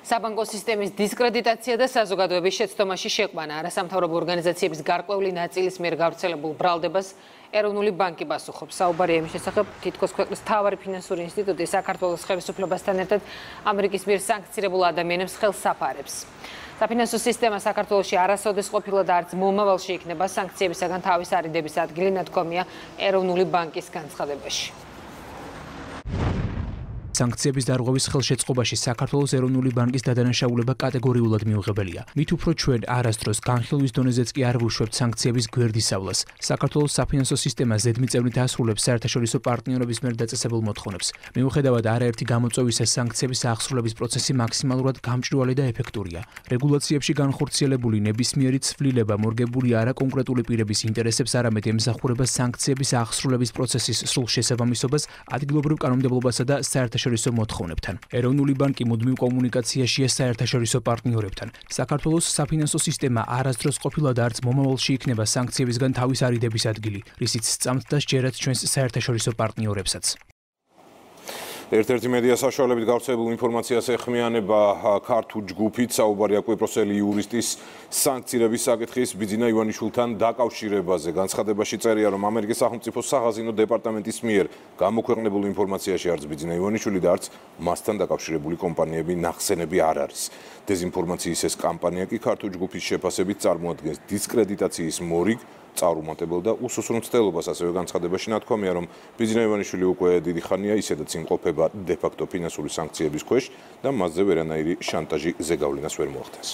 საბანკო სისტემის დისკრედიტაცია და საზოგადოების შეცდომაში შეყვანა არასამთავრობო ორგანიზაციების გარკვეული ნაწილის მიერ გავრცელებულ ბრალდებას ეროვნული ბანკი პასუხობს. საუბარია იმის შესახებ, თითქოს ქვეყნის მთავარი ფინანსური ინსტიტუტი საქართველოს ხელისუფლებასთან ერთად ამერიკის მიერ სანქცირებულ ადამიანებს ხელს აფარებს. საფინანსო სისტემა საქართველოში არასოდეს ყოფილა და არც მომავალში იქნება სანქციებისაგან თავის არიდების ადგილი ნათქვამია ეროვნული ბანკის განცხადებაში. სანქციების დარღვევის ხელშეწყობაში საქართველოს ეროვნული ბანკის დადანაშაულება კატეგორიულად მიუღებელია. მით უფრო ჩვენ არასდროს განხილვის დონეზეც კი არ ვუშვებთ სანქციების გვერდისავლას. საქართველოს საფინანსო სისტემა ზედმიწევნით ასრულებს საერთაშორისო პარტნიორების მიერ დაწესებულ მოთხოვნებს. მიუხედავად არაერთი გამოწვევისა, სანქციების აღსრულების პროცესი მაქსიმალურად გამჭვირვალე და ეფექტურია. რეგულაციებში განხორციელებული ნებისმიერი ცვლილება მორგებული არა კონკრეტული პირების ინტერესებს, არამედ ემსახურება სანქციების აღსრულების პროცესის სრულ შესაბამისობას ადგილობრივ კანონმდებლობასა და საერთაშორისო მოთხოვნებთან. ეროვნული ბანკი მუდმივ კომუნიკაციაშია საერთაშორისო პარტნიორებთან. საქართველოს საფინანსო სისტემა არასდროს ყოფილა და არც მომავალში იქნება სანქციებისგან თავის არიდების ადგილი, რისიც სწამთ და სჯერათ ჩვენს საერთაშორისო პარტნიორებსაც. ერთ-ერთი მედია საშუალებით გავრცელებულ ინფორმაციას ეხმიანება ქართულ ჯგუფით საუბარია კვიპროსელი იურისტის სანქცირების საკითხის ბიძინა ივანიშვილთან დაკავშირებაზე. განცხადებაში წერია, რომ ამერიკის სახელმწიფო სახაზინო დეპარტამენტის მიერ გამოქვეყნებულ ინფორმაციაში არც ბიძინა ივანიშვილი და არც მასთან დაკავშირებული კომპანიები ნახსენები არ არის. დეზინფორმაციის ეს კამპანია კი ქართულ ჯგუფის შეფასებით წარმოადგენს დისკრედიტაციის მორიგ, წარუმატებელ და უსუსრულ მცდელობას. ასევე განცხადებაში ნათქვამია, რომ ბიძინა ივანიშვილი უკვე დიდი ხანია ისედაც იმყოფება დე-ფაქტო ფინანსური სანქციების ქვეშ და მასზე ვერანაირი შანტაჟი ზეგავლენას ვერ მოახდენს.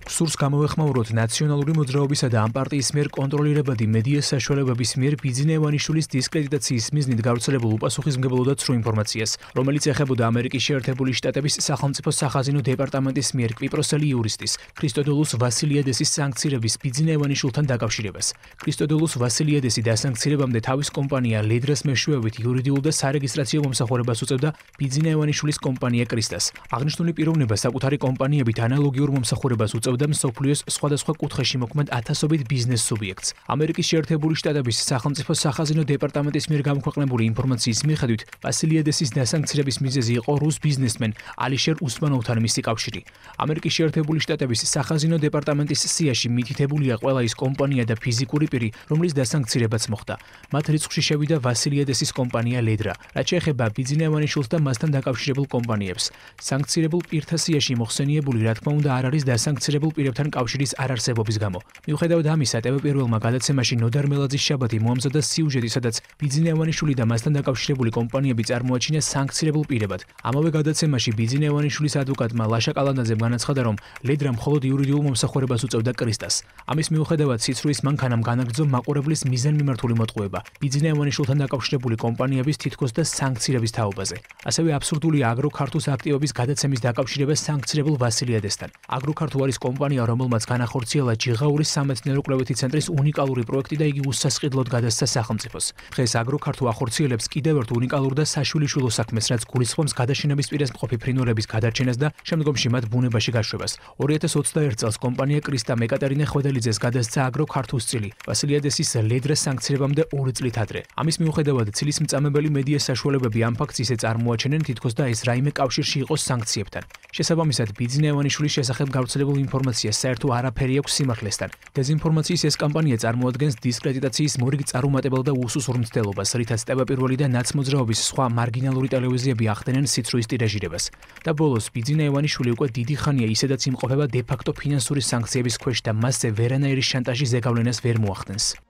სურს გამოვეხმაუროთ ნაციონალური მოძრაობისა და ამ პარტიის მიერ კონტროლირებადი მედია საშუალებების მიერ ბიძინა ივანიშვილის დისკრედიტაციის მიზნით გავრცელებულ უპასუხისმგებლო და ცრუ ინფორმაციას, რომელიც ეხებოდა ამერიკის შეერთებული შტატების სახელმწიფო სახაზინო დეპარტამენტის მიერ კვიპროსელი იურისტის ქრისტოდოლუს ვასილიადესის სანქცირების ბიძინა ივანიშვილთან დაკავშირებას. ქრისტოდოლუს ვასილიადესი დასანქცირებამდე თავის კომპანია ლედრას მეშვეობით იურიდიულ და სარეგისტრაციო მომსახურებას უწევდა ბიძინა ივანიშვილის კომპანია კრისტას. აღნიშნული პიროვნება საკუთარი კომპანიებით ანალოგიურ მომსახურებას უწევდა მსოფლიოს სხვადასხვა კუთხეში მოქმედ ათასობით ბიზნეს სუბიექტს. ამერიკის შეერთებული შტატების სახელმწიფო სახაზინო დეპარტამენტის მიერ გამოქვეყნებული ინფორმაციის მიხედვით, ვასილიადესის დასანქცირების მიზეზი იყო რუს ბიზნესმენ ალიშერ უსმანოვთან მისი კავშირი. ამერიკის შეერთებული შტატების სახაზინო დეპარტამენტის სიაში მითითებულია ყველა ის კომპანია და ფიზიკური პირი, რომლის დასანქცირებაც მოხდა. მათ რიცხვში შევიდა ვასილიადესის კომპანია ლედრა, რაც შეეხება ბიძინა ივანიშვილს და მასთან დაკავშირებულ კომპანიებს. სანქცირებულ პირთა სიაში მოხსენიებული, რა თქმა უნდა, არ არის დასანქცირებულ პირებთან კავშირის არარსებობის გამო. მიუხედავად ამისა, ტევ-პირველმა გადაცემაში ნოდარ მელაძის შაბათი მოამზადა სიუჟეტი, სადაც ბიძინა ივანიშვილი და მასთან დაკავშირებული კომპანიები წარმოაჩინა სანქცირებულ პირებად. ამავე გადაცემაში ბიძინა ივანიშვილის ადვოკატმა ლაშა კალანდაძემ განაცხადა, რომ ლედრა მხოლოდ იურიდიულ მომსახურებას უწევდა კრისტას. ამის მიუხედავად ციცრულის მანქანამ განაგრძო მაყურებლის მიზანმიმართული მოტყუება ბიძინა ივანიშვილთან დაკავშირებული კომპანიების თითქოს და სანქცირების თაობაზე. ასევე აბსურდულია აგროქართუს აქტივების გადაცემის დაკავშირება სანქცირებულ ვასილიადესთან. აგროქართუ არის კომპანია, რომელმაც განახორციელა ჯიღაურის სამეცნიერო-კვლევითი ცენტრის უნიკალური პროექტი და იგი უსასყიდლოდ გადასცა სახელმწიფოს. დღეს აგროქართუ ახორციელებს კიდევ ერთ უნიკალურ და საშვილიშვილო საქმეს, რაც გულისხმობს გადაშენების პირას მყოფი ფრინველების გადარჩენას და შემდგომში მათ ბუნებაში გაშვებას. 2021 წელს კომპანია კრისტამ ეკატერინე ხვედელიძეს გადასცა აგროქართუს წილი, ვასილიადესის ლედრას სანქცირებამდე 2 წლით ადრე. ამის მიუხედავად ცილის მწამებელი მედია საშუალებები ამ ფაქტს ისე წარმოაჩენენ, თითქოს და ეს რაიმე კავშირში იყოს სანქციებთან. შესაბამისად, ბიძინა ივანიშვილის შესახებ გავრცელებულ ინფორმაციას საერთო არაფერი აქვს სიმართლესთან. დეზინფორმაციის ეს კამპანია წარმოადგენს დისკრედიტაციის მორიგ წარუმატებელ და უსუსრულ მცდელობას, რითაც ტევ-პირველი და ნაცმოძრაობის სხვა მარგინალური ტელევიზიები ახდენენ სიცრუის ტირაჟირებას. და ბოლოს ბიძინა ივანიშვილი უკვე დიდი ხანია ისედაც იმყოფება დე-ფაქტო ფინანსური სანქციების ქვეშ და მასზე ვერანაირი შანტაჟი ზეგავლენას ვერ მოახდენს.